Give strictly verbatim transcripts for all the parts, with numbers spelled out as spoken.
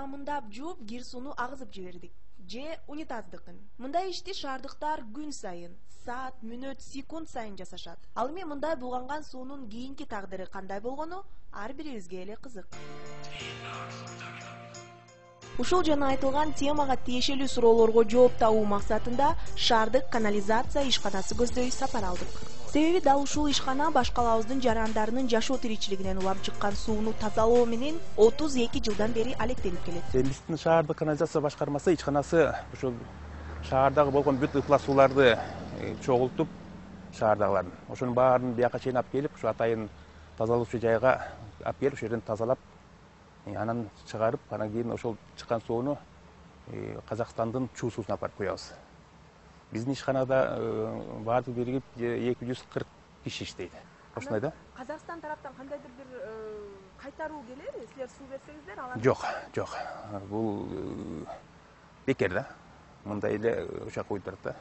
самындап жууп, кир сууну агызып жибердик же унитаздыкын. Мындай ишти шаардыктар күн сайын, саат, мүнөт, секунд сайын жасашат. Ал эми мындай булганган суунун кийинки тагдыры кандай болгону ар бирибизге эле кызык. Ушул жана айтылган темага тиешелүү суроолорго жооп табуу максатында шаардык канализация ишканасы көздөй сапар алдык. Себеби дал ушул ишкана башкалабыздын жарандарынын жашоо тиричилигинен улам чыккан сууну тазалоо менен отуз эки жылдан бери алектенип келет. Биздин шаардык канализация башкармасы ишканасы ушул шаардагы болгон бүт ыплас сууларды чогултуп, шаардагылардын ошонун баарын бияка чейин алып келип, ушу атайын тазалоочу жайга алып келип, ошол жерден тазалап, анан чыгарып, анан кийин ошол чыккан сууну Казакстандын чуу суусуна алып барып коебуз. Биздин ишканада баардыгы биригип эки жүз кырк киши иштейт. Ошондой да. Казакстан тараптан кандайдыр бир кайтаруу келеби? Силер суу берсеңиздер, алар? Жок, жок. Бул бекер да. Мындай эле ошо коюп турат да.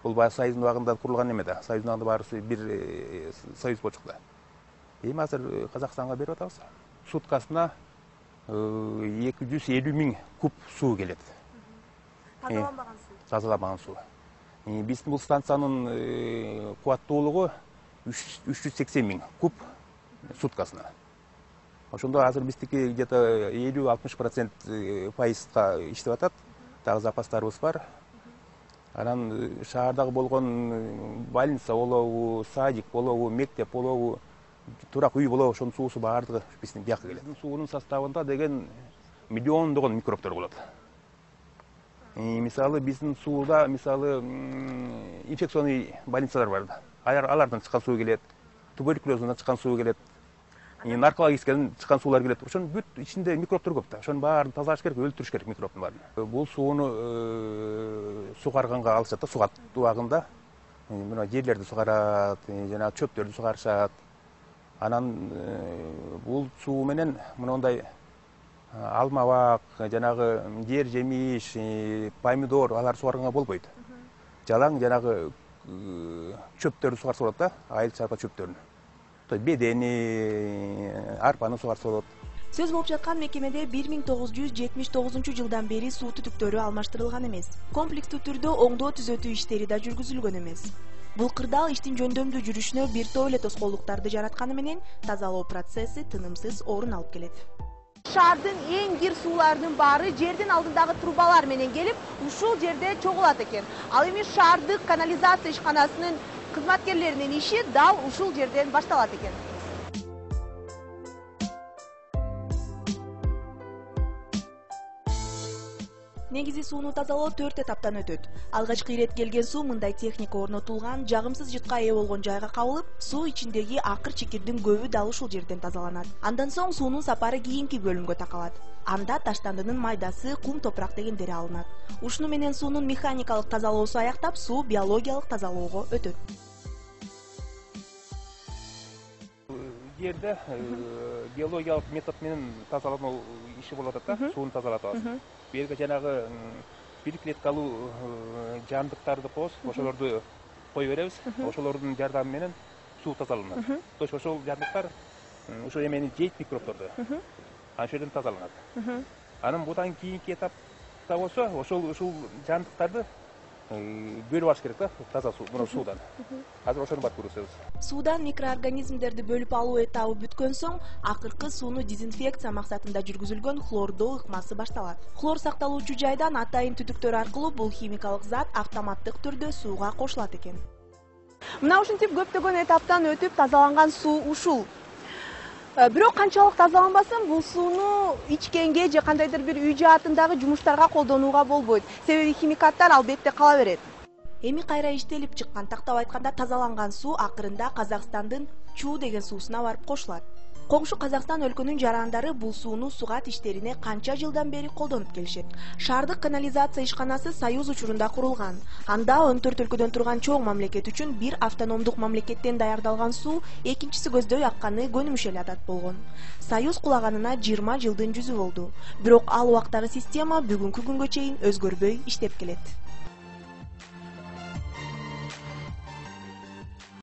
Бул баягы Союздун убагында курулган эме да. Союздун убагында баарысы бир союз болчук да. Эми азыр Казакстанга берип атабыз. Суткасына эки жүз элүү миң куб суу келет. Тазаланбаган суу. Тазаланбаган суу. Биздин бул станциянын кубаттуулугу үч жүз сексен миң куб суткасына. Ошондо азыр биздики где-то элүү алтымыш процент пайызга иштеп атат. Дагы запастарыбыз бар. Анан шаардагы болгон больница болобу, садик болобу, мектеп болобу, турак үй болобу, ошонун суусу баардыгы биздин бияка келет. Суунун составында деген миллиондогон микробтор болот. Мисалы биздин сууда мисалы инфекционный больницалар бар. Алардан чыккан суу келет, туберкулездан чыккан суу келет, наркологическийден чыккан суулар келет. Ошонун бүт ичинде микробтор көп да. Ошонун баарын тазалаш керек, өлтүрүш керек микробтун баарын. Бул сууну сугарганга алышат да, сугат убагында. Мына жерлерди сугарат, жана чөптөрдү сугарышат. Анан бул суу менен мындай алма бак, жанагы жер жемиш, помидор алар сугарганга болбойт. Жалаң жанагы чөптөрдү сугарса болот да, айыл чарба чөптөрүн. Бедени, арпаны сугарса болот. Сөз болуп жаткан мекемеде бир миң тогуз жүз жетимиш тогузунчу жылдан бери суу түтүктөрү алмаштырылган эмес. Комплекстүү түрдө оңдоо түзөтүү иштери да жүргүзүлгөн эмес. Бул кырдаал иштин жөндөмдүү жүрүшүнө бир топ эле тоскоолдуктарды жаратканы менен тазалоо процесси тынымсыз орун алып келет. Шаардын эң кир сууларынын баары жердин алдындагы трубалар менен келип, ушул жерде чогулат экен. Ал эми шаардык канализация ишканасынын кызматкерлеринин иши дал ушул жерден башталат экен. Негизи сууну тазалоо төрт этаптан өтөт. Алгачкы ирет келген суу мындай техника орнотулган жагымсыз жытка ээ болгон жайга кабылып, суу ичиндеги акыр чекирдин көбү дал ушул жерден тазаланат. Андан соң суунун сапары кийинки бөлүмгө такалат. Анда таштандынын майдасы, кум, топурак дегендери алынат. Ушуну менен суунун механикалык тазалоосу аяктап, суу биологиялык тазалоого өтөт. Жерде биологиялык метод менен тазалануу иши болуп атат да, сууну тазалап атабыз. Берге жанагы бир клеткалуу жандыктарды коебуз, ошолорду кое беребиз. Ошолордун жардамы менен суу тазаланат. То есть ошол жандыктар ошол эмени жейт, микробторду. Ошол жерден тазаланат. Анан будан кийинки этапта болсо, ошол ушул жандыктарды бөлүп алыш керек да, таза суу, мына суудан. Азыр ошону барып көрсөтөбүз. Суудан микроорганизмдерди бөлүп алуу этабы бүткөн соң, акыркы сууну дезинфекция максатында жүргүзүлгөн хлордоо ыкмасы башталат. Хлор сакталуучу жайдан атайын түтүктөр аркылуу бул химикалык зат автоматтык түрдө сууга кошулат экен. Мына ушинтип көптөгөн этаптан өтүп тазаланган суу ушул. Бирок канчалык тазаланбасын, бул сууну ичкенге же кандайдыр бир үй жаатындагы жумуштарга колдонууга болбойт. Себеби химикаттар албетте кала берет. Эми кайра иштелип чыккан, тактап айтканда тазаланган суу акырында Казакстандын Чуу деген суусуна барып кошулат. Коңшу Казакстан өлкөнүн жарандары бул сууну сугат иштерине канча жылдан бери колдонуп келишет. Шаардык канализация ишканасы Союз учурунда курулган. Анда он төрт өлкөдөн турган чоң мамлекет үчүн бир автономдук мамлекеттен даярдалган суу экинчиси көздөй акканы көнүмүш эле адат болгон. Союз кулаганына жыйырма жылдын жүзү болду. Бирок ал убактагы система бүгүнкү күнгө чейин өзгөрбөй иштеп келет.